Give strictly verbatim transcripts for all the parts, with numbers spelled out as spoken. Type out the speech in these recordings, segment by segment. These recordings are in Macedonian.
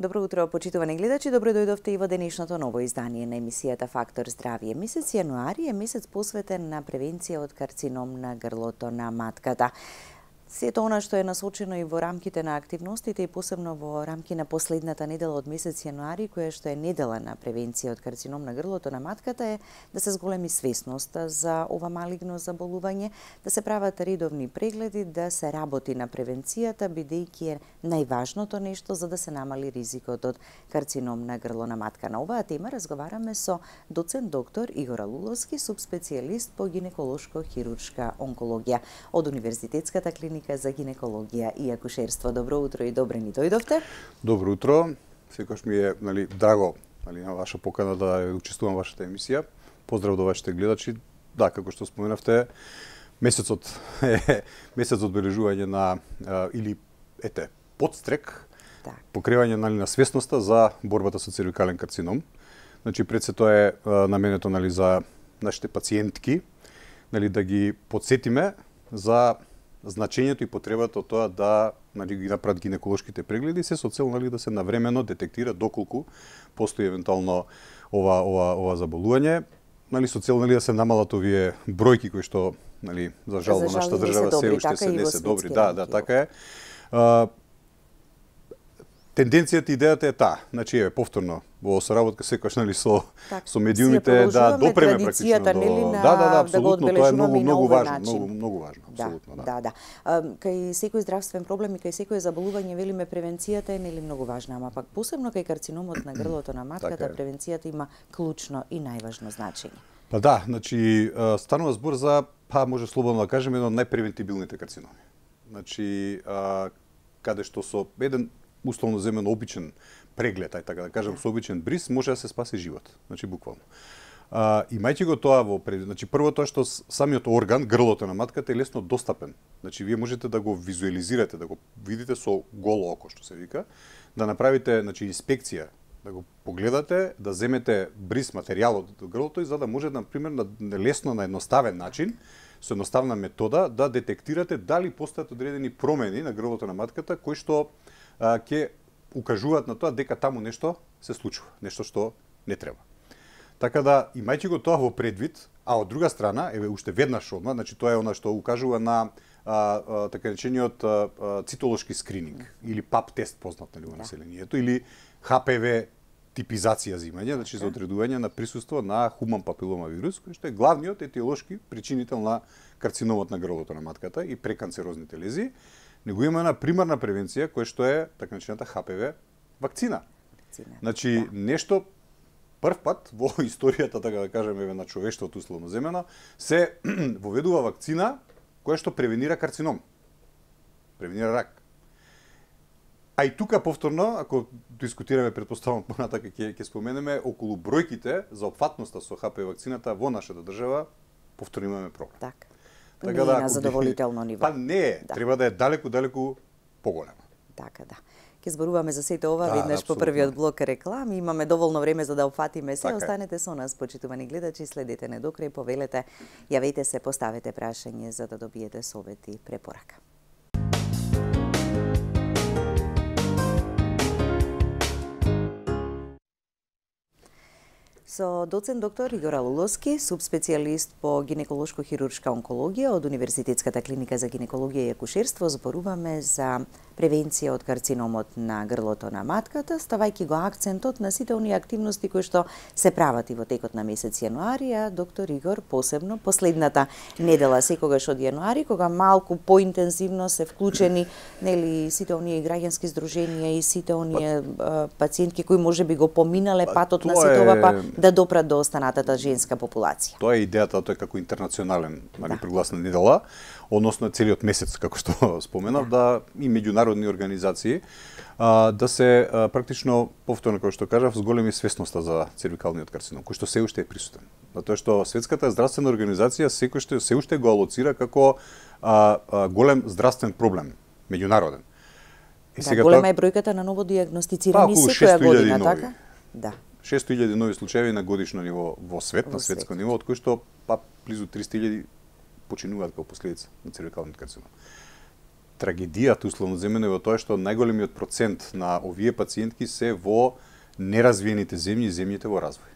Добро утро, почитувани гледачи. Добро дојдовте и во денешното ново издание на емисијата Фактор здравје. Месец јануари е месец посветен на превенција од карцином на грлото на матката. Сето она што е насочено и во рамките на активностите и посебно во рамки на последната недела од месец јануари, која што е недела на превенција од карцином на грлото на матката, е да се зголеми свесноста за ова малигно заболување, да се прават редовни прегледи, да се работи на превенцијата, бидејќи е најважното нешто за да се намали ризикот од карцином на грло на матка. На оваа тема разговараме со доцент доктор Игор Алуловски, субспецијалист по гинеколошко-хируршка онкологија од Универзитетската клиника за гинекологија и акушерство. Добро утро и добре ни дојдовте. Добро утро. Секогаш ми е, нали, драго, нали, на ваша покана да учествувам во вашата емисија. Поздрав до вашите гледачи. Да, како што споменавте, месецот е месец одбележување на а, или ете, подстрек, да, покривање, нали, на свесноста за борбата со цервикален карцином. Значи пред се тоа е а, наменето, нали, за нашите пациентки, нали, да ги подсетиме за значењето и потребата од тоа да, нали, ги направат гинеколошките прегледи, се со цел, нали, да се навремено детектира доколку постои евентуално ова ова ова заболување, нали, со цел, нали, да се намалат овие бројки кои што, нали, за жал во нашата држава се уште се не се добри. Да, да, така е. А, тенденцијата, идејата е таа. Значи, е повторно во соработка секогаш, нали, со так, со медиумите да допреме практично до... нели, на... Да, да, да, апсолутно, да тоа е многу многу важно, начин. многу многу важно, апсолутно, да. Да, да. да. Кај секој здравствен проблем и кај секој заболување велиме превенцијата е нели многу важна, ама пак посебно кај карциномот на грлото на матката, така превенцијата има клучно и најважно значење. Па да, значи станува збор за, па може слободно да кажеме, едно од најпревентибилните карциноми. Значи, а, каде што со еден условно земено обичен преглед, ај така да кажам, со обичен бриз, може да се спаси живот. Значи, буквално. А, имајќи го тоа во пред... Значи, прво тоа што самиот орган, грлото на матката, е лесно достапен. Значи, вие можете да го визуализирате, да го видите со голо око, што се вика, да направите, значи, инспекција, да го погледате, да земете бриз материјалот од грлото и за да може, например, на лесно, на едноставен начин, со едноставна метода, да детектирате дали постојат одредени промени на грлото на матката, кои што ќе укажуваат на тоа дека таму нешто се случува, нешто што не треба. Така да, имајќи го тоа во предвид, а од друга страна, еве уште веднаш одма, значи тоа е она што укажува на а, а, така речениот а, а, цитолошки скрининг или пап тест познат, нали, во населението, или Х П В типизација зимање, значи за одредување на присуство на хуман папилома вирус, кој што е главниот етиолошки причинител на карциномот на грлото на матката и преканцерозните лезии. Него има една примарна превенција која што е така наречената Х П В вакцина. Вакцина. Значи да. нешто прв пат во историјата, така да кажеме, на човештвото условно земено, се воведува вакцина која што превенира карцином. Превенира рак. А и тука повторно, ако дискутираме, предпоставам понатака ќе ќе споменеме околу бројките за опфатноста со Х П В вакцината во нашата држава, повторно имаме проблем. Так. Така не да, е на задоволително ниво. Па не е, да. Треба да е далеку, далеку поголема. Така да. Ке зборуваме за сето ова да, веднаш по првиот блок реклами. Имаме доволно време за да опфатиме се. Така Останете со нас, почитувани гледачи, следете не до крај, повелете, јавете се, поставете прашање за да добиете совет и препорака. Со доцент доктор Игор Алуловски, субспецијалист по гинеколошко-хируршка онкологија од Универзитетската клиника за гинекологија и акушерство, зборуваме за превенција од карциномот на грлото на матката, ставајќи го акцентот на сите оние активности кои што се прават и во текот на месец јануари, а доктор Игор посебно последната недела секогаш од јануари, кога малку поинтензивно се вклучени, нели, сите оние граѓански здруженија и сите оние а, пациентки кои можеби го поминале патот на сето ова, па да допрат до останатата женска популација. Тоа е идејата, тоа е како интернационален, нали, да. прогласна недела, односно целиот месец, како што споменав, да, да и меѓународни организации а, да се а, практично, повторно како што кажав, зголеми свесноста за цервикалниот карцином, кој што се уште е присутен. Затоа што Светската здравствена организација секој што се уште го алоцира како а, а, голем здравствен проблем, меѓународен. И да, сега голема тоа... е бројката на ново дијагностицирани па, секоја година, нови. така? Да. шестоста илјади нови случаи на годишно ниво во свет, во на светско свет. ниво, од кои што па близу триста илјади починуваат како последица на цервикалниот карцином. трагедијата условно земено е во тоа што најголемиот процент на овие пациентки се во неразвиените земји и земјите во развој.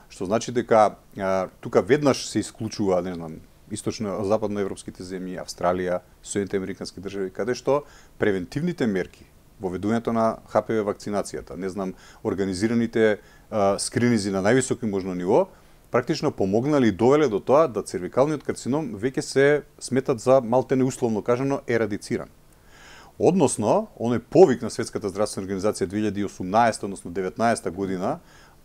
Што значи дека а, тука веднаш се исклучува, не знам, источно западноевропските земји, Австралија, Соединените американски држави, каде што превентивните мерки, воведувањето на Х П В вакцинацијата, не знам, организираните а, скринизи на највисоко можно ниво, практично помогнали и довеле до тоа да цервикалниот карцином веќе се сметат за малтене условно кажано ерадициран. Односно, оној повик на Светската здравствена организација две илјади и осумнаесета, односно деветнаесета година,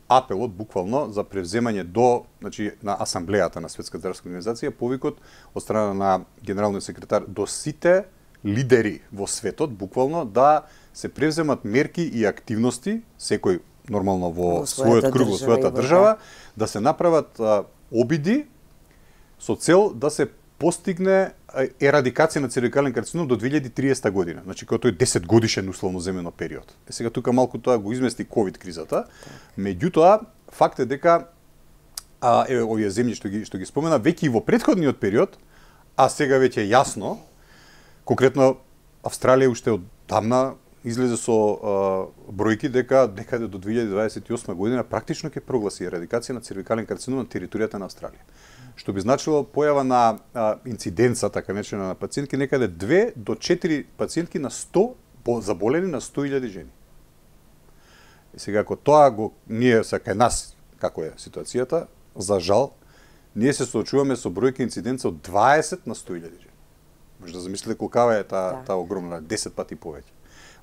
апелот буквално за превземање до, значи, на асамблејата на Светската здравствена организација, повикот од страна на генералниот секретар до сите лидери во светот, буквално да се превземат мерки и активности, секој нормално во, во својот круг, во својата држава, да се направат а, обиди со цел да се постигне ерадикација на цервикален карцином до две илјади и триесета година, значи кога тој десет годишен условно земено период. Е сега тука малку тоа го измести ковид кризата. Меѓутоа, факт е дека а, е, овие земји што ги што ги спомена веќе и во претходниот период, а сега веќе е јасно, конкретно Австралија уште од давна излезе со а, бројки дека некаде до две илјади дваесет и осма година практично ќе прогласи ерадикација на цервикален карцином на територијата на Австралија. Што би значило појава на а, инциденца, така наречена, на пациентки, некаде две до четири пациентки на сто заболени на сто илјади жени. И сега, ако тоа го, ние са кај нас, како е ситуацијата, за жал, ние се соочуваме со бројка инциденца од дваесет на сто илјади жени. Може да замислите колкава е таа, да. таа огромна, десет пати повеќе.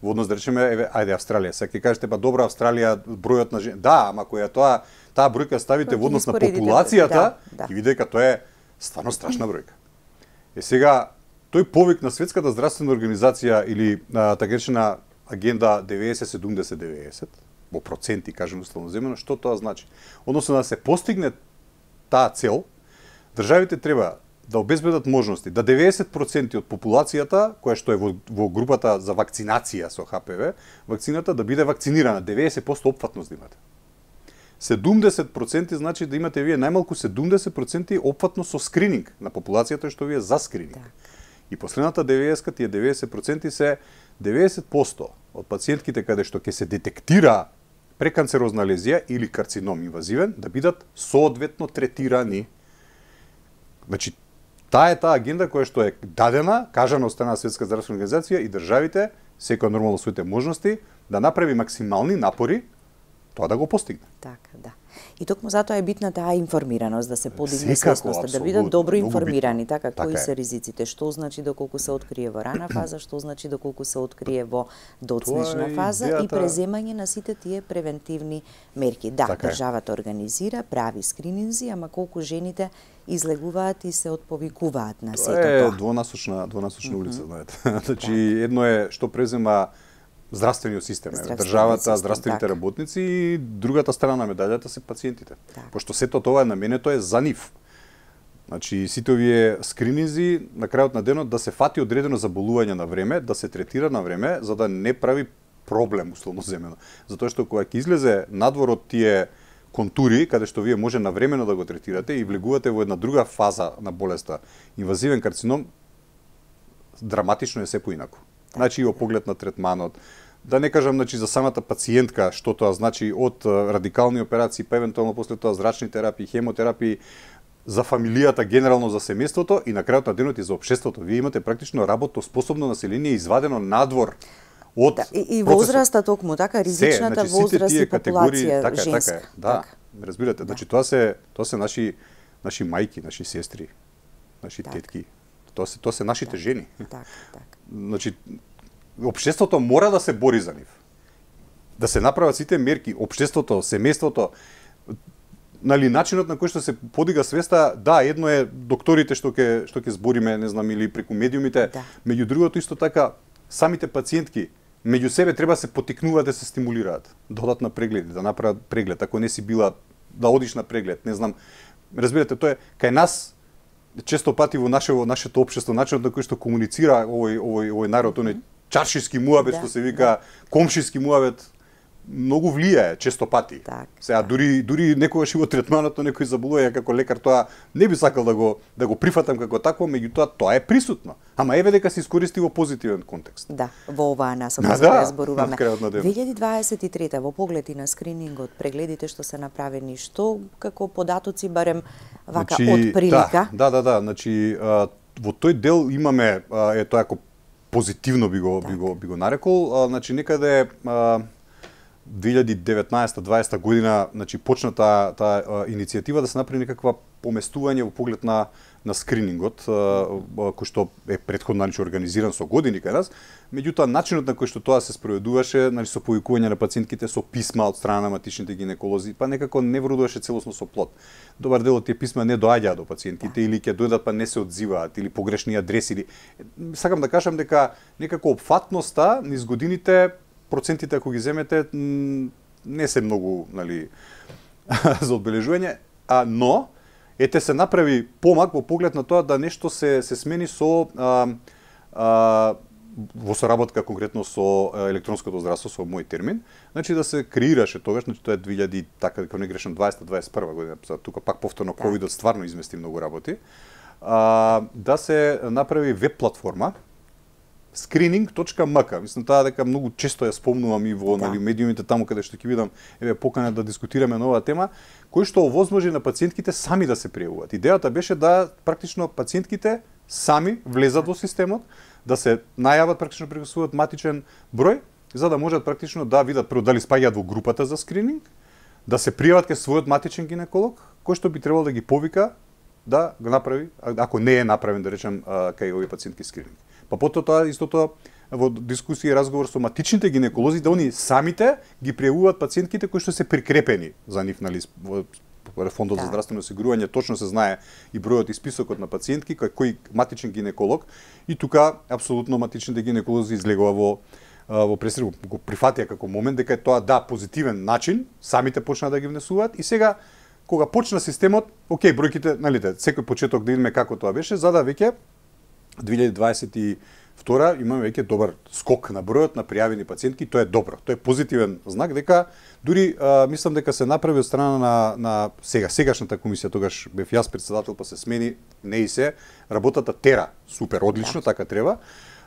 Во однос да речеме, еве, ајде Австралија, сега ќе кажете, па добро Австралија, бројот на жени, да, ама која тоа, таа бројка ставите во однос на популацијата, да, да. И видите дека тоа е стварно страшна бројка. Е сега, тој повик на Светската здравствена организација или а, така речена агенда деветдесет седумдесет деветдесет, во проценти, кажем условно земено, што тоа значи? Односно да се постигне таа цел, државите треба да обезбедат можности да деветдесет проценти од популацијата, која што е во, во групата за вакцинација со Х П В, вакцината да биде вакцинирана, деветдесет проценти опфатност да имате. седумдесет проценти значи да имате вие најмалку седумдесет проценти опфатност со скрининг на популацијата што вие за скрининг. Так. И последната деветдесет, тие деветдесет проценти се деветдесет проценти од пациентките каде што ќе се детектира преканцерозна лезија или карцином инвазивен, да бидат соодветно третирани. Значи, таа е таа агенда која што е дадена, кажана од страна на Светска здравствена организација и државите, секој нормално своите можности, да направи максимални напори тоа да го постигне. Така, да. И токму затоа е битна таа информираност, да се подигне свесноста, да бидат добро информирани, така, така кои е. Се ризиците, што значи доколку се открие во рана фаза, што значи доколку се открие во доцнична фаза идеята... и преземање на сите тие превентивни мерки. Да, така државата организира, прави скрининзи, ама колку жените излегуваат и се отповикуваат на сето тоа. Тоа е двонасочна, двонасочна mm -hmm. улица, знаете. Значи, едно е што презема здравствениот систем, Здравствен државата, систем, здравствените так. работници и другата страна на медаљата се пациентите. Так. Пошто сето тоа наменето е за нив. Значи, сите овие скрининзи на крајот на денот да се фати одредено заболување на време, да се третира на време, за да не прави проблем условно земено. Затоа што кога ќе излезе надвор од тие контури, каде што вие може навремено да го третирате и влегувате во една друга фаза на болеста, инвазивен карцином, драматично е се поинаку. Значи, и во поглед на третманот, да не кажам, значи, за самата пациентка, што тоа значи од радикални операции, па евентуално после тоа зрачни терапии, хемотерапии, за фамилијата, генерално за семејството и на крајот на денот и за општеството. Вие имате практично работоспособно население извадено надвор од да, и, и возраста токму, така, ризичната се, значи, возраст и популација така, женска. Така, да, така. Разбирате, да. Значи, тоа се, тоа се наши, наши мајки, наши сестри, наши так. тетки. Тоа се, тоа се нашите так. жени. Така, така. Значи, општеството мора да се бори за нив. Да се направат сите мерки, општеството, семејството, нали, начинот на кој што се подига свеста, да, едно е докторите што ќе што ќе збориме, не знам, или преку медиумите, да. Меѓу другото исто така самите пациентки меѓу себе треба да се потикнуваат да се стимулираат, да одат на прегледи, да направат преглед, ако не си била да одиш на преглед, не знам. Разбирате, тоа е кај нас често пати во наше во нашето општество, начинот на кој што комуницира овој овој овој народ, оној чаршиски муабет, да, што се вика, да. комшиски муабет, многу влијае често пати. Так, Сега так. дури дури некогаш и во третманот на некој заболува, како лекар тоа не би сакал да го да го прифатам како такво, меѓутоа тоа е присутно. Ама еве дека се искористи во позитивен контекст. Да, во оваа насока Да, за да да, зборуваме. на крајот на денот. две илјади дваесет и трета во поглед и на скринингот, прегледите што се направени, што како податоци барем вака Значи, од прилика? Да, да, да, значи а, во тој дел имаме а, е тоа како позитивно би го би го би го нарекол, а, значи некаде а, две илјади деветнаесета дваесета година, значи почна таа таа иницијатива да се направи некаква поместување во поглед на на скринингот, кој што е претходно значи организиран со години кај нас, меѓутоа начинот на кој што тоа се спроведуваше, значи со повикување на пациентките со писма од страна на матичните гинеколози, па некако не вродуваше целосно со плод. Добар дел од тие писма не доаѓаа до пациентите или ќе дојдат па не се одзиваат или погрешни адреси или сакам да кажам дека некако опфатноста низ годините процентите ако ги земете не се многу, нели, за одбележување, а но ете се направи помак во поглед на тоа да нешто се се смени со а, а, во соработка конкретно со електронското здравство, со мој термин, значи да се креираше тогаш, значи тоа е две илјади, така дека не грешам, дваесета дваесет и прва година, тука пак повторно ковидот стварно измести многу работи, а, да се направи веб платформа screening точка ем ка. Мислам таа дека многу често ја спомнувам и во да. Нели медиумите таму каде што ќе видам, еве покана да дискутираме на оваа тема, кој што овозможи на пациентките сами да се пријавуваат. Идејата беше да практично пациентките сами влезат во системот, да се најават практично преку својот матичен број, за да можат практично да видат прво дали спаѓаат во групата за скрининг, да се пријават кај својот матичен гинеколог, кој што би требало да ги повика да го направи, ако не е направен, да речем, кај овие пациентки скрининг. Па потоа тоа истото во дискусија и разговор со матичните гинеколози да они самите ги пријавуваат пациентките кои што се прикрепени за нив, нали, во Фондот да. За здравствено осигурување точно се знае и бројот и списокот на пациентки кој, кој матичен гинеколог и тука апсолутно матичните гинеколози излегува во во пресред го прифатија како момент дека е тоа да позитивен начин, самите почнаа да ги внесуваат и сега кога почна системот, окей, бројките, нали, секој почеток да видиме како тоа беше, за да веќе две илјади дваесет и втора имаме веќе добар скок на бројот на пријавени пациентки, тоа е добро. Тоа е позитивен знак дека дури а, мислам дека се направи од страна на на сега сегашната комисија, тогаш бев јас претседател, па се смени, не и се, работата тера супер, одлично, така треба.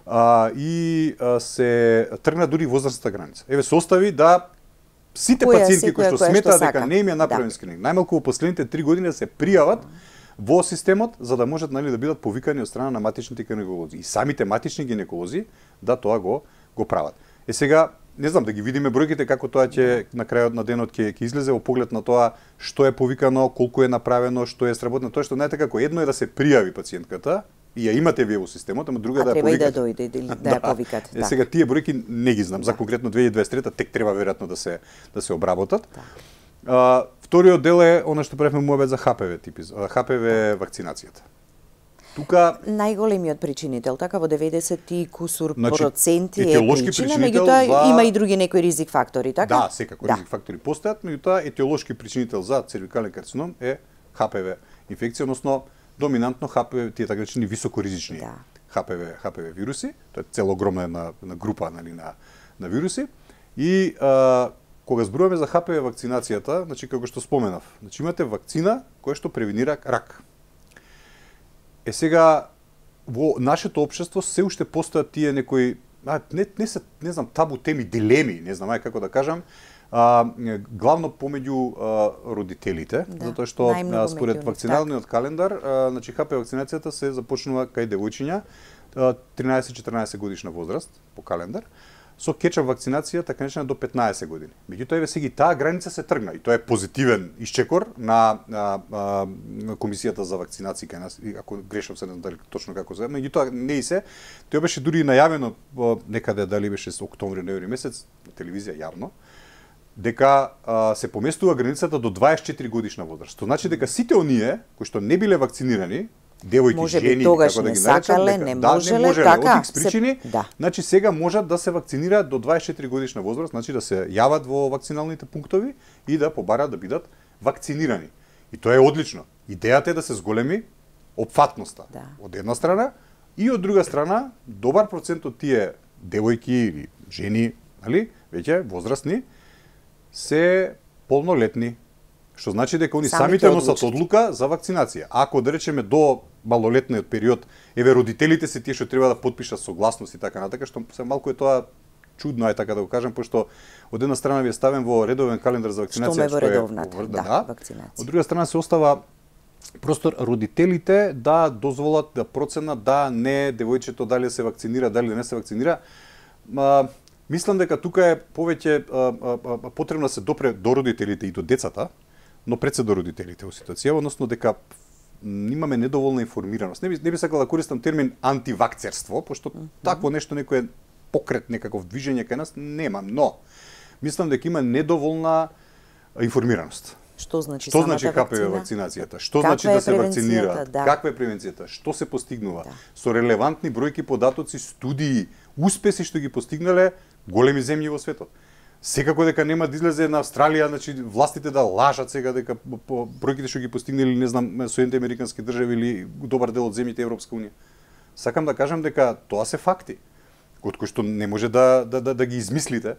А, и а, се тргна дури возрастната граница. Еве се остави да сите која, пациентки кои што сметаат дека не им е направен да. Скрининг, најмалку во последните три години да се пријават во системот за да можат, нали, да бидат повикани од страна на матичните гинеколози и самите матични гинеколози да тоа го го прават. Е сега не знам да ги видиме бројките како тоа ќе на крајот на денот ќе ќе излезе во поглед на тоа што е повикано, колку е направено, што е сработено, тоа што знаете како едно е да се пријави пациентката и ја имате вие во системот, ама друга а да ја повикате. Треба и да дојде да, да ја повикате. Да. Е сега тие бројки не ги знам, да. За конкретно две илјади дваесет и трета тек треба веројатно да се да се обработат. Да. А, вториот дел е она што правиме муабет за Х П В типи, Х П В вакцинацијата. Тука најголемиот причинител, така во деветдесет и кусур значи, проценти е причина, меѓутоа за... има и други некои ризик фактори, така? Да, секако да. Ризик фактори постојат, меѓутоа етиолошки причинител за цервикален карцином е Х П В инфекција, односно доминантно Х П В, тие така речени високоризични да. Х П В, Х П В вируси, тоа е цела огромна една, една група, нали, на на вируси и а, кога зборуваме за Х П В вакцинацијата, значи како што споменав, значи имате вакцина која што превенира рак. Е сега во нашето општество се уште постојат тие некои а, не не се не знам табу теми, дилеми, не знам ај како да кажам, а, главно помеѓу а, родителите, да, затоа што а, според вакциналниот так. Календар, а, значи Х П В вакцинацијата се започнува кај девојчиња тринаесет-четиринаесет годишна возраст по календар. Со кетчап вакцинација така наречена до петнаесет години. Меѓутоа еве сега таа граница се тргна и тоа е позитивен исчекор на, на, на, на комисијата за вакцинација кај нас, ако грешам се не знам дали точно како се, меѓутоа не и се. Тоа беше дури најавено некаде дали беше со октомври, ноември месец на телевизија јавно дека а, се поместува границата до дваесет и четири годишна возраст. Тоа значи дека сите оние кои што не биле вакцинирани, девојки, може жени, тогаш како да не ги наречат, сакале, дека, не да, можеле, не можеле, така, од икс причини, се, да. Значи сега можат да се вакцинираат до дваесет и четири годишна возраст, значи да се јават во вакциналните пунктови и да побараат да бидат вакцинирани. И тоа е одлично. Идејата е да се зголеми опфатноста да. Од една страна и од друга страна добар процент од тие девојки или жени, нали, веќе возрастни, се полнолетни, што значи дека они Самите самите носат одлучат. одлука за вакцинација. Ако да речеме до малолетниот период, еве родителите се тие што треба да потпишат согласност и така натака, што се малку е тоа чудно, ај така да го кажам, пошто од една страна ви е ставен во редовен календар за вакцинација, што ме во што е редовната, во- да, да, вакцинација. од друга страна се остава простор родителите да дозволат, да проценат да не девојчето дали се вакцинира, дали не се вакцинира. Ма, мислам дека тука е повеќе а, а, а, потребно да се допре до родителите и до децата, но пред се до родителите во ситуација, односно дека имаме недоволна информираност. Не би, не би сакал да користам термин антивакцерство, пошто mm -hmm. такво нешто некој покрет, некаков движење кај нас нема, но мислам дека има недоволна информираност. Што значи Што значи самата Х П В вакцина? вакцинацијата? Што Каква значи е да се превенцијата? вакцинира? Да. Каква е превенцијата? Што се постигнува? Да. Со релевантни бројки, податоци, студии, успеси што ги постигнале големи земји во светот. Секако дека нема да излезе на Австралија, значи властите да лажат сега дека по бројките што ги постигнали, не знам, Соединените американски држави или добар дел од земјите Европска унија. Сакам да кажам дека тоа се факти, од кои што не може да да да, да ги измислите.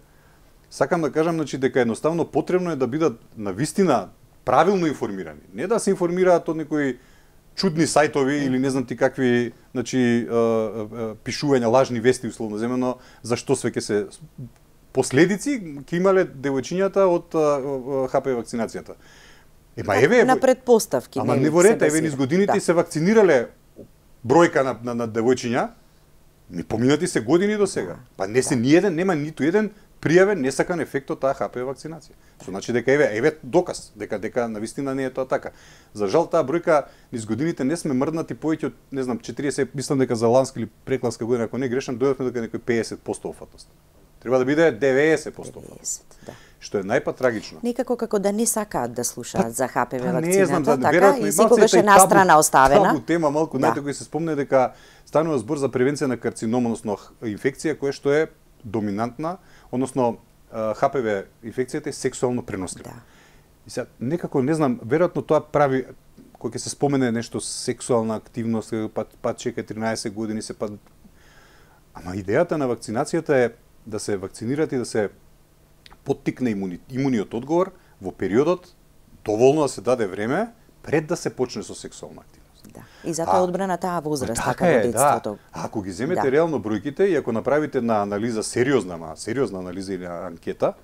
Сакам да кажам, значи, дека едноставно потребно е да бидат навистина правилно информирани. Не да се информираат од некои чудни сајтови или не знам ти какви, значи, пишувања лажни вести условно земено, за што све ќе се последици ќе имале девојчињата од Х П В вакцинацијата. Ема еве На предпоставки. Ама нели, не во се ред, еве базира. низ годините Да. се вакцинирале бројка на на, на девојчиња. Ми поминати се години до сега. Па не се ни еден, нема ниту еден пријавен несакан ефект од таа Х П В вакцинација. Што значи дека еве еве доказ дека дека навистина не е тоа така. За жал таа бројка низ годините не сме мрднати повеќе од не знам четириесет, мислам дека за ланска или прекланска година ако не грешам дојдовме дека некој пеесет проценти офатност. Треба да биде деветесет проценти офатност. деветесет, да. Што е најпатрагично. Некако како да не сакаат да слушаат за Х П В Па не знам, вакцината, да, така веројатно и малце секогаш тај е настрана табу- оставена. Табу тема малку Да. најте кој се спомне дека станува збор за превенција на карцином, односно инфекција која што е доминантна, односно Х П В инфекцијата е сексуално пренослива. Да. И сега некако не знам, веројатно тоа прави кога ќе се спомене нешто сексуална активност, па па чека тринаесет години се па ама идејата на вакцинацијата е да се вакцинират и да се поттикне имуни, имуниот одговор во периодот доволно да се даде време пред да се почне со сексуална активност. Да. И затоа А, одбрана таа возраст, Така така во е, детството. да. Ако ги земете Да. реално бројките и ако направите една анализа сериозна, ма сериозна анализа или анкета,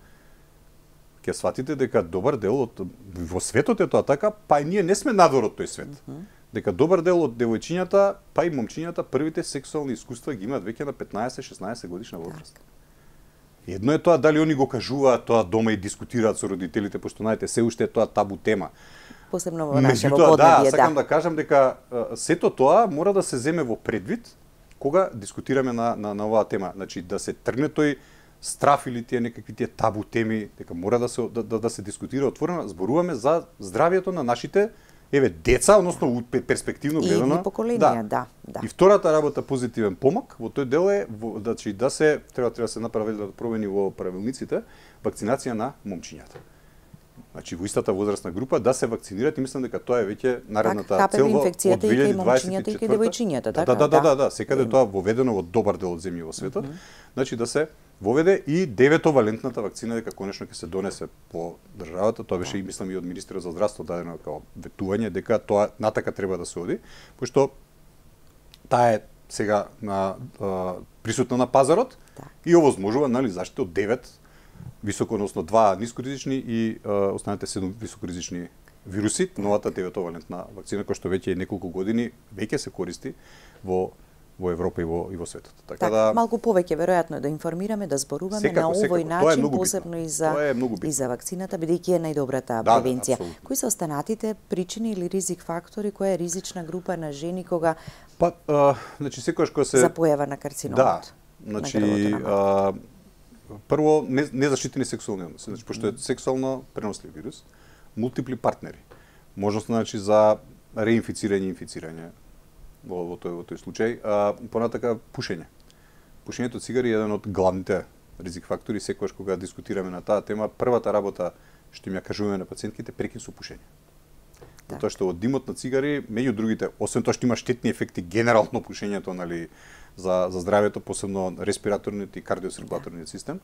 ќе сватите дека добар дел од во светот е тоа така, па и ние не сме надвор од тој свет. Mm -hmm. Дека добар дел од девојчињата, па и момчињата првите сексуални искуства ги имаат веќе на петнаесет-шеснаесет годишна возраст. Едно е тоа дали они го кажуваат тоа дома и дискутираат со родителите, пошто знаете се уште е тоа табу тема. Посебно во нашето Меѓутоа, да, поднебје, сакам да. да кажам дека а, сето тоа мора да се земе во предвид кога дискутираме на, на, на оваа тема. Значи, да се тргне тој страф или тие некакви тие табу теми, дека мора да се, да, да, да се дискутира отворено, зборуваме за здравието на нашите еве деца, односно у перспективно И гледано. идни поколенија, да, да. И втората работа позитивен помак во тој дел е во, значи, да се треба треба да се направи да промени во правилниците вакцинација на момчињата. Значи во истата возрастна група да се вакцинираат и мислам дека тоа е веќе наредната Х П В цел во инфекцијата и кај момчињата и кај девојчињата, Да, така? да, да, да, Да. да, секаде тоа воведено во добар дел од земји во светот. Mm -hmm. Значи да се воведе и деветовалентната вакцина дека конечно ќе се донесе по државата, тоа беше и мислам и од министерот за здравство дадено како ветување дека тоа натака треба да се оди, пошто таа е сега на а, присутна на пазарот Так. и овозможува нели заштита од девет високо, односно два нискоризични и а, останете седум високоризични вируси, новата деветовалентна вакцина која што веќе е неколку години веќе се користи во во Европа и во и во светот. Така Так, да малку повеќе веројатно да информираме, да зборуваме Секако, на овој секако. Тоа е начин, многу битно. посебно и за Тоа е многу битно. и за вакцината, бидејќи е најдобрата Да, да, превенција. апсолутно. Кои се останатите причини или ризик фактори, која е ризична група на жени кога па а, значи секогаш кога се за појава на карциномот? Да. Значи на грлото на а, прво не, незаштитени сексуални односи, значи пошто е сексуално пренослив вирус, мултипли партнери. Можност значи за реинфицирање и инфицирање во, во тој во тој случај, а понатака пушење. Пушењето цигари е еден од главните ризик фактори, секогаш кога дискутираме на таа тема, првата работа што им ја кажуваме на пациентките прекин со пушење. Так. Затоа што од димот на цигари, меѓу другите, освен тоа што има штетни ефекти генерално пушењето, нели, за за здравјето, посебно респираторниот и кардиоциркулаторниот систем,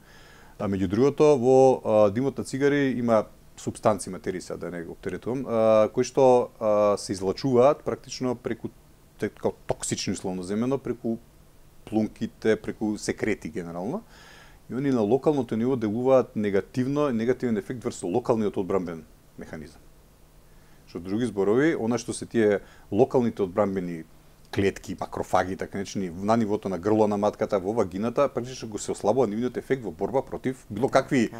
А меѓу другото, во а, димот на цигари има супстанции, материи, сега да не го оптеретувам, кои што а, се излачуваат практично преку како токсични условно земено, преку плунките, преку секрети генерално. И они на локалното ниво делуваат негативно, негативен ефект врз локалниот одбранбен механизам. Што други зборови, она што се тие локалните одбранбени клетки, макрофаги, така наречени, на нивото на грло на матката, во вагината, практично го се ослабува нивниот ефект во борба против било какви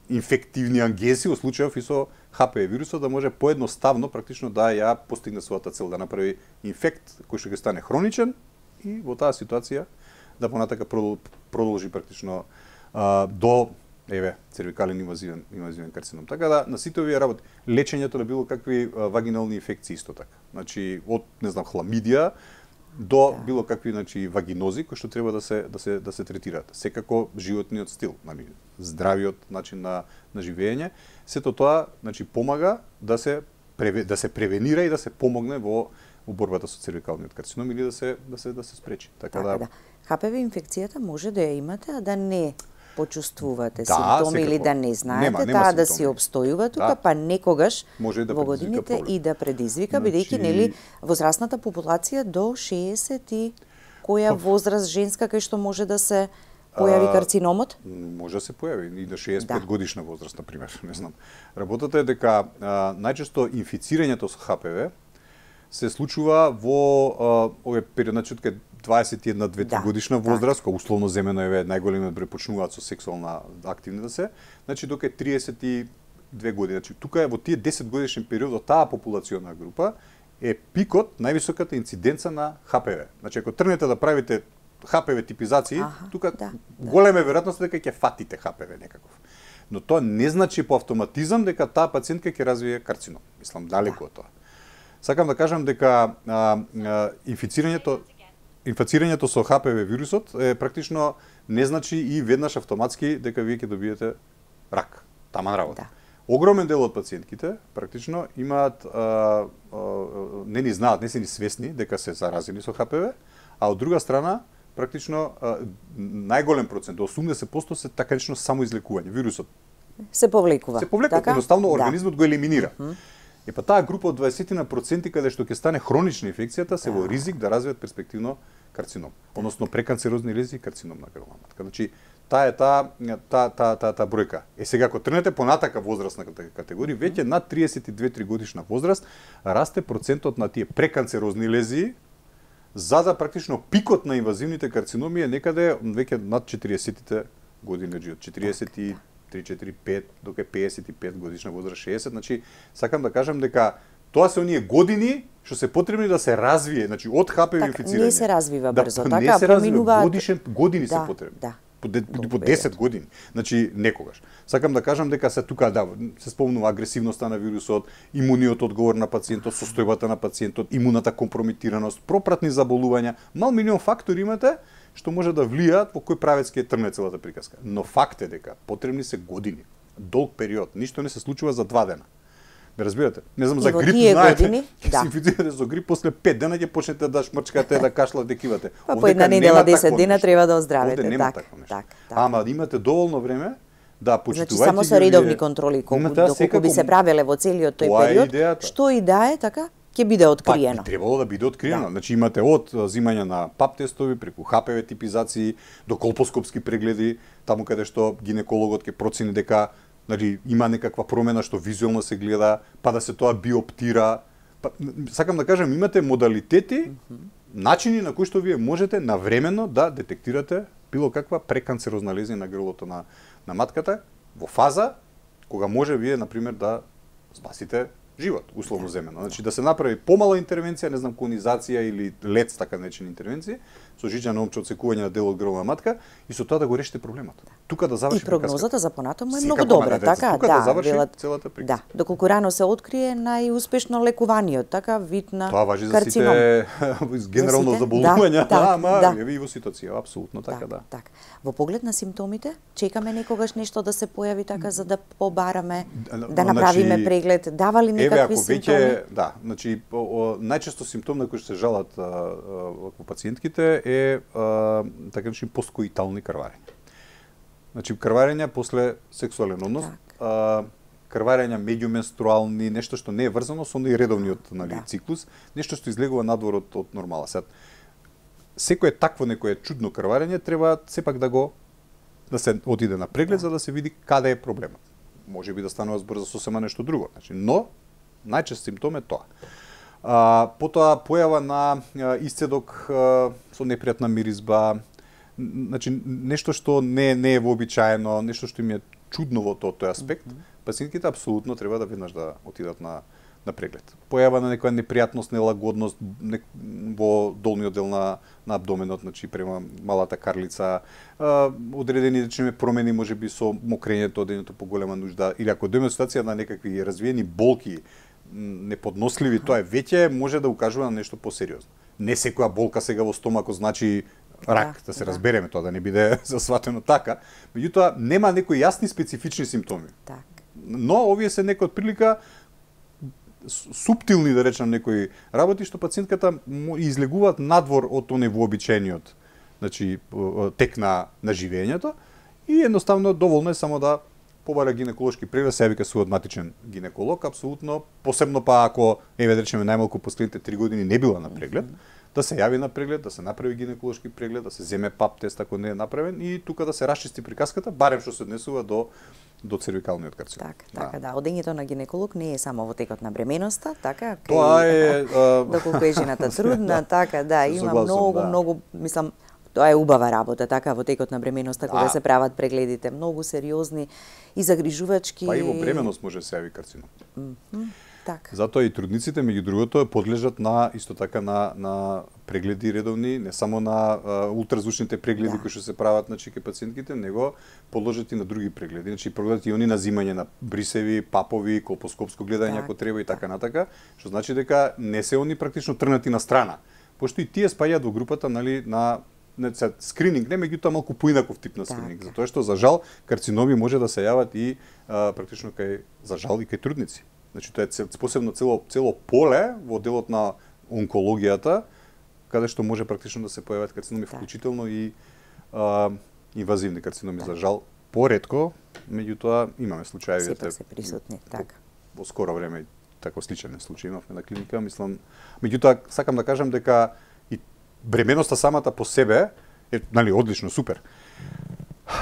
инфективни агенси, во случајов и со Х П В вирусот, да може поедноставно практично да ја постигне својата цел, да направи инфект кој што ќе стане хроничен и во таа ситуација да понатака продолжи практично а, до еве цервикален инвазивен инвазивен карцином. Така да на сите овие работи лечењето на било какви а, вагинални инфекции исто така. Значи од не знам хламидија до да. било какви значи вагинози кои што треба да се да се да се третираат. Секако животниот стил, нели, здравиот начин на на живење, сето тоа значи помага да се да се превенира и да се помогне во во борбата со цервикалниот карцином или да се да се да се спречи. Така, така да, да. Х П В инфекцијата може да ја имате, а да не почувствувате да, симптоми секако. или да не знаете, нема, нема таа да симптоми. си обстојува тука, да. па некогаш да во годините проблем. и да предизвика, Значи... бидејќи нели возрастната популација до шеесет и која возраст женска кај што може да се појави карциномот? А, може да се појави и до шеесет и пет да. годишна возраст, на пример, не знам. Работата е дека а, најчесто инфицирањето со Х П В се случува во овој период, значи од дваесет и една до дваесет и три да, годишна возраст, кога условно земено е најголемиот број почнуваат со сексуална активни да се, значи дока е триесет и две години. Значи тука е во тие десет годишен период од таа популациона група е пикот, највисоката инциденца на Х П В. Значи ако тргнете да правите Х П В типизации, аха, тука да, голема е веројатност дека ќе фатите Х П В некаков. Но тоа не значи по автоматизам дека таа пациентка ќе развие карцином. Мислам далеку од тоа. Сакам да кажам дека а, а, инфицирањето инфицирањето со Х П В вирусот е практично не значи и веднаш автоматски дека вие ќе добиете рак. Таман работа. Да. Огромен дел од пациентките практично имаат а, а, не ни знаат, не се ни свесни дека се заразени со Х П В, а од друга страна практично а, најголем процент, до осумдесет проценти се така наречено самоизлекување. Вирусот се повлекува. Се повлекува, така? Едноставно организмот да. го елиминира. Mm -hmm. И па таа група од дваесет на проценти каде што ќе стане хронична инфекцијата се да. во ризик да развијат перспективно карцином, да. односно преканцерозни лези и карцином на грлна матка. Значи таа е таа таа таа таа та бројка. Е сега ако тргнете понатака возрастна категорија, веќе над триесет и две три годишна возраст расте процентот на тие преканцерозни лези, за да практично пикот на инвазивните карциноми е некаде веќе над четириесетите години од живот, четириесет и три, четири, пет, дока пеесет и пет годишна возраст, шеесет, значи сакам да кажам дека тоа се оние години што се потребни да се развие, значи од Х П В инфицирање. Не се развива брзо, да, така не се развива, поминуваат годишен години да, се потребни. Да. По, по десет години. Значи некогаш. Сакам да кажам дека се тука да се спомнува агресивноста на вирусот, имуниот одговор на пациентот, состојбата на пациентот, имуната компромитираност, пропратни заболувања, мал милион фактори имате што може да влијаат во кој правец ќе трне целата приказка. Но факт е дека потребни се години, долг период, ништо не се случува за два дена. Ме разбирате? Не знам, за грип знаете, ќе да. се инфицирате со грип, после пет дена ќе почнете да шмрчкате, да кашлате, да кивате. Па по една недела, десет дена треба да оздравите. Овде нема такво нешто. Так, так. Ама имате доволно време да почитувајте. Значи само со редовни контроли, колку доколку би се правеле во целиот тој период, што и да е така, ќе биде откриено. Па, би требало да биде откриено. Да. Значи имате од зимање на пап тестови, преку Х П В типизации, до колпоскопски прегледи, таму каде што гинекологот ќе процени дека нали, има некаква промена што визуелно се гледа, па да се тоа биоптира. Па, сакам да кажам, имате модалитети, mm -hmm. начини на кои што вие можете навремено да детектирате било каква преканцерозна лезија на грлото на, на матката, во фаза кога може вие, например, да спасите живот, условно земено. Значи да се направи помала интервенција, не знам, конизација или лец, така наречени интервенции, со жиđано омче одсекување на дел од грлна матка и со тоа да го решите проблемот. Тука да заврши и прогнозата за понатаму е Сека многу добра, така, тука да, да заврши велат, целата приказка. Да, доколку рано се открие, најуспешно лекуваниот, така вид на тоа важи за карцином. сите генерално за сите? заболувања, да, ама да. еве и во ситуација, апсолутно така, да. Так. Во поглед на симптомите, чекаме некогаш нешто да се појави така за да побараме, да направиме значи, преглед, дава ли некакви еве, симптоми? Веќе, да, значи о, о, најчесто симптом на кој се жалат а, а, во пациентките е а, така речени посткоитални крварења. Значи крварења после сексуален однос, Так. а, крварења меѓуменструални, нешто што не е врзано со нередовниот, нали, Да. циклус, нешто што излегува надвор од, од нормала. Сад, секое такво некое чудно крварење треба сепак да го да се отиде на преглед, да. За да се види каде е проблемот. Може би да станува збор за сосема нешто друго. Значи, но најчест симптом е тоа. А, потоа појава на а, исцедок а, со непријатна миризба, значи нешто што не не е вообичаено, нешто што им е чудно во тој, тој аспект, mm -hmm. пациентите апсолутно треба да веднаш да отидат на на преглед. Појава на некоја непријатност, нелагодност не, во долниот дел на на абдоменот, значи према малата карлица, а, одредени речеме промени можеби со мокрењето, одењето поголема нужда, или ако дојме ситуација на некакви развиени болки, неподносливи, тоа е веќе може да укажува на нешто посериозно. Не секоја болка сега во стомакот значи рак, да, да се да. разбереме, тоа да не биде засватено така. Меѓутоа нема некои јасни специфични симптоми. Так. Но овие се некои од прилика суптилни, да речам, некои работи што пациентката излегуваат надвор од оној вообичаениот, значи тек на на живењето и едноставно доволно е само да побара гинеколошки преглед, се вика со матичен гинеколог, апсолутно, посебно па ако еве да речеме најмалку последните три години не била на преглед, да се јави на преглед, да се направи гинеколошки преглед, да се земе пап тест ако не е направен и тука да се расчисти приказката, барем што се однесува до до цервикалниот карцином. Така, така, да. да. Одењето на гинеколог не е само во текот на бременоста, така, кај, тоа е доколку е жената трудна, да, така, да, има согласен, многу, да. многу, мислам, тоа е убава работа, така, во текот на бременоста, кога да. се прават прегледите, многу сериозни и загрижувачки. Па и во бременост може се јави карцином. Mm -hmm. Так. Затоа и трудниците меѓу другото подлежат на исто така на на прегледи редовни, не само на а, ултразвучните прегледи да. кои што се прават на чеке пациентките, него подлежат и на други прегледи. Значи прегледат и они на зимање на брисеви, папови, колпоскопско гледање так, ако треба и така натака, што значи дека не се они практично трнати на страна. Пошто и тие спаѓаат во групата, нели, на не се скрининг, не меѓутоа малку поинаков тип на скрининг, так. Затоа што за жал карциноми може да се јават и а, практично кај за жал и кај трудници. Значи тоа е посебно цело цело поле во делот на онкологијата, каде што може практично да се појават карциноми, так. Вклучително и а, инвазивни карциноми, так. За жал поретко, меѓутоа имаме случаи сепак се присутни, така. Во скоро време тако сличен случај имавме на клиника, мислам, меѓутоа сакам да кажам дека и бременоста самата по себе е, нали, одлично, супер.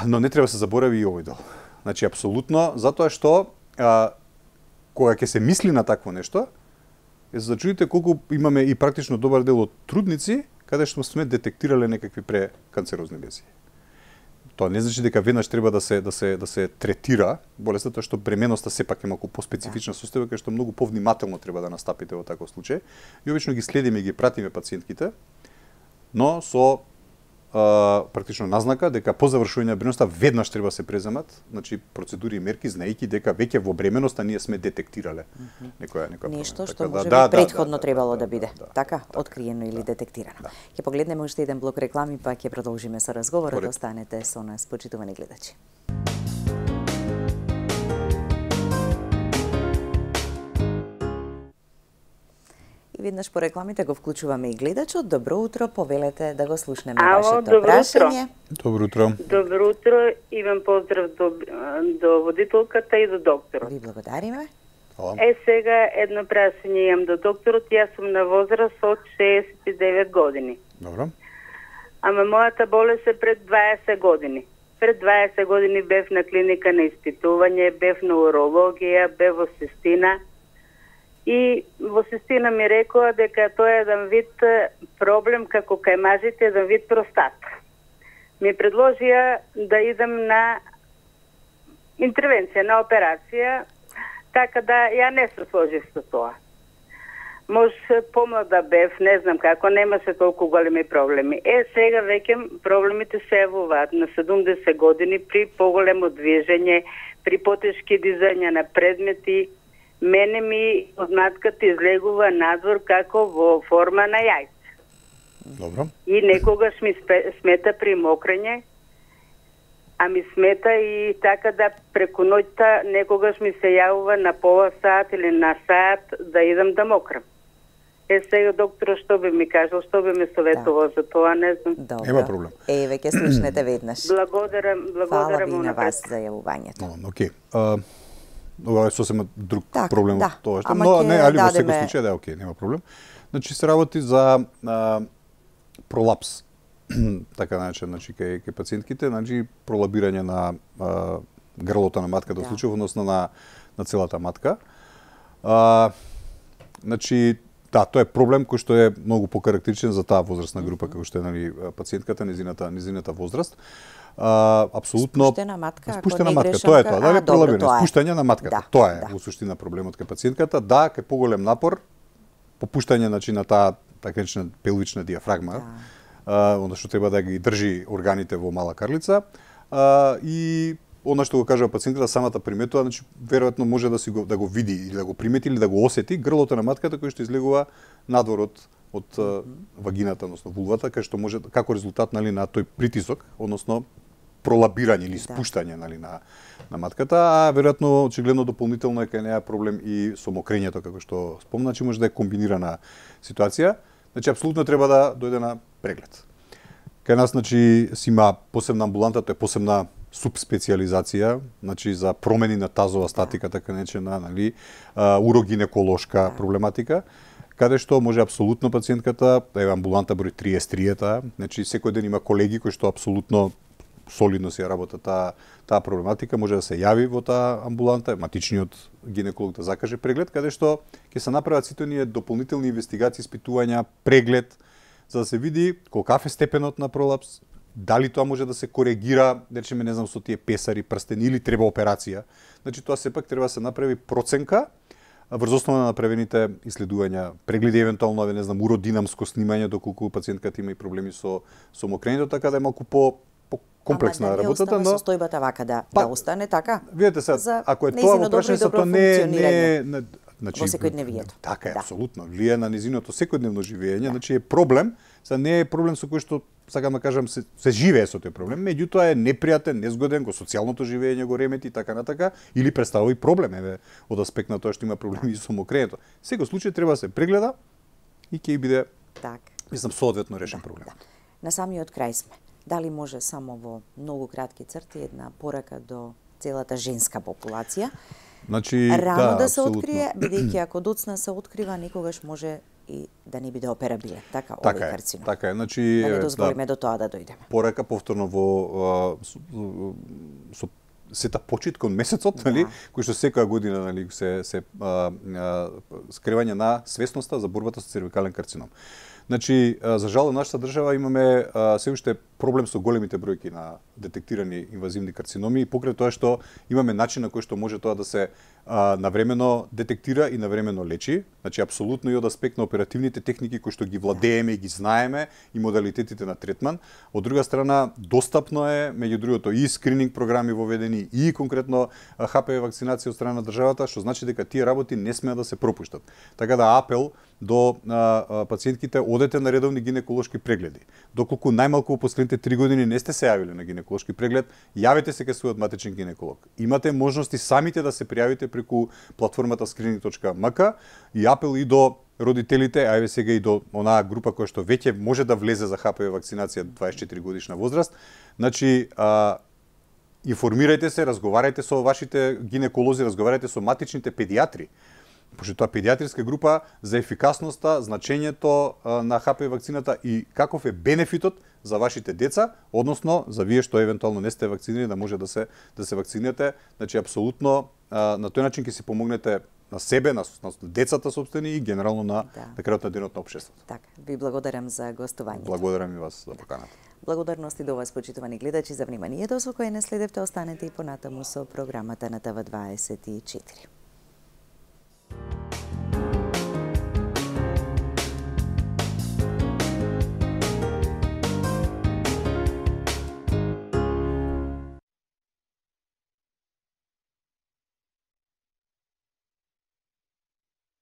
Но не треба да се заборави и овој дел. Значи апсолутно, затоа што а, кога ќе се мисли на такво нешто, е за да чуете колку имаме и практично добар дел од трудници, каде што сме детектирале некакви преканцерозни лезии. Тоа не значи дека веднаш треба да се да се да се третира болеста, тоа што бременоста сепак е малку поспецифична состојба, кај што многу повнимателно треба да настапите во таков случај. И обично ги следиме и ги пратиме пациентките, но со а, практично назнака дека по завршување на бременоста веднаш треба да се преземат, значи процедури и мерки, знаејќи дека веќе во бременоста ние сме детектирале некоја некоја нешто што така, може да, би претходно да, да, требало да, да биде, да, да, така, да, откриено или да, детектирано. Да. Ќе погледнеме уште еден блок реклами, па ќе продолжиме со разговорот. Поред. Останете со нас, почитувани гледачи. И веднаш по рекламите го вклучуваме и гледачот. Добро утро, повелете да го слушнеме Ало, вашето добро прашање. Добро утро. Добро утро, имам поздрав до, до водителката и до докторот. Ви благодариме. Хвала. Е, сега едно прашање имам до докторот. Јас сум на возраст од шеесет и девет години. Добро. Ама мојата болест е пред дваесет години. Пред дваесет години бев на клиника на испитување, бев на урологија, бев во Сестина. И во Сестина ми рекоа дека тоа е еден вид проблем како кај мажите, еден вид простат. Ми предложија да идем на интервенција, на операција, така да ја не се сложив со тоа. Може помлада бев, не знам како, немаше толку големи проблеми. Е, сега веќе проблемите се јавуваат на седумдесет години при поголемо движење, при потешки дизања на предмети. Мене ми од матката излегува надвор како во форма на јајце. Добро. И некогаш ми смета при мокрење, а ми смета и така да преку ноќта некогаш ми се јавува на пола сат или на сат да идам да мокрам. Е, сега доктор што би ми кажал, што би ми советувал да. За тоа, не знам. Добро. Нема проблем. Еве, ќе слушнете веднаш. Благодарам, благодарам. Фала ви на вас за јавувањето. Но, окей. А, ова е сосема друг так, проблем да. од тоа што, Ама но не, али во дадеме... секој случај да, окей, нема проблем. Значи се работи за а, пролапс. Така наречен, значи кај кај пациентките, значи пролабирање на а, грлото на матката, да. Во случај односно на на целата матка. А, значи да, тоа е проблем кој што е многу покарактеристичен за таа возрастна група, како што е нали пациентката, незината незината возраст. А, апсолутно спуштена матка, спуштена матка, тоа е тоа, да, е пролабирано, спуштање на матката. Да, тоа е да. во суштина проблемот кај пациентката, да, кај поголем напор, попуштање значи на таа така наречена пелвична диафрагма. Да. А, оно што треба да ги држи органите во мала карлица, а, и она што го кажува пациентот, самата приметува, значи веројатно може да си го да го види или да го примети или да го осети грлото на матката кој што излегува надвор од од mm-hmm. вагината, односно вулвата, кај што може како резултат нали на тој притисок, односно пролабирање или спуштање нали на на матката, а веројатно очигледно дополнително е кај неа проблем и со мокрењето како што спомна, значи може да е комбинирана ситуација. Значи апсолутно треба да дојде на преглед. Кај нас значи си има посебна амбуланта, тоа е посебна субспециализација, значи за промени на тазова статика, така наречена, нели, урогинеколошка проблематика, каде што може апсолутно пациентката, еве амбуланта број триесет три, значи секој ден има колеги кои што апсолутно солидно си ја работат таа таа проблематика, може да се јави во таа амбуланта, матичниот гинеколог да закаже преглед, каде што ќе се направат сите оние дополнителни инвестигации, испитувања, преглед, за да се види колкав е степенот на пролапс, дали тоа може да се коригира, да речеме, не знам, со тие песари, прстени или треба операција. Значи тоа сепак треба да се направи проценка врз основа на направените исследувања, прегледи евентуално, не знам, уродинамско снимање доколку пациентката има и проблеми со со мокрењето, така да е малку по комплексна Ама да работата, но состојбата вака да па, да остане така. Видете сега, ако е тоа во прашање, тоа не не не значи во секојдневието. Така е, да. апсолутно. Влие на незиното секојдневно живење, да. Значи е проблем, за не е проблем со кој што сакам да кажам се, се живее со тој проблем, меѓутоа е непријатен, незгоден, го социјалното живење го ремети така натака или представува и проблем еве од аспект на тоа што има проблеми со мокрењето. Секој случај треба да се прегледа и ќе биде так. Мислам соодветно решен да, проблем. Да. На самиот крај сме. Дали може само во многу кратки црти една порака до целата женска популација? Значи, рано да, да се абсолютно. открие, бидејќи ако доцна се открива, никогаш може и да не биде операбилен. Така, така овој е, карцином. така е. Значи, да не дозволиме да, до тоа да дојдеме. Порака повторно во со, со сета почит кон месецот, да. Нели, кој што секоја година нели се се а, а, скривање на свесноста за борбата со цервикален карцином. Значи, за жал, нашата држава имаме а, се уште проблем со големите бројки на детектирани инвазивни карциноми и покрај тоа што имаме начин на кој што може тоа да се а, навремено детектира и навремено лечи. Значи, апсолутно и од аспект на оперативните техники кои што ги владееме и ги знаеме и модалитетите на третман. Од друга страна, достапно е, меѓу другото, и скрининг програми воведени и конкретно Х П В вакцинација од страна на државата, што значи дека тие работи не смеат да се пропуштат. Така да апел до а, а, пациентките, одете на редовни гинеколошки прегледи. Доколку најмалку во последните три години не сте се јавиле на гинеколошки преглед, јавете се кај својот матичен гинеколог. Имате можности самите да се пријавите преку платформата screening точка м к и апел и до родителите, а еве сега и до онаа група која што веќе може да влезе за Х П В вакцинација дваесет и четири годишна возраст. Значи, а, информирајте се, разговарајте со вашите гинеколози, разговарајте со матичните педиатри, пошто тоа педиатриска група за ефикасноста, значењето на Х П В вакцината и каков е бенефитот за вашите деца, односно за вие што евентуално не сте вакцинирани да може да се да се вакцинирате. Значи апсолутно на тој начин ќе си помогнете на себе, на, на децата собствени и генерално на да. на крајот на денот на општеството. Така, ви благодарам за гостувањето. Благодарам и вас за поканата. Благодарности до вас, почитувани гледачи, за вниманието со кое не следевте. Останете и понатаму со програмата на Т В дваесет и четири.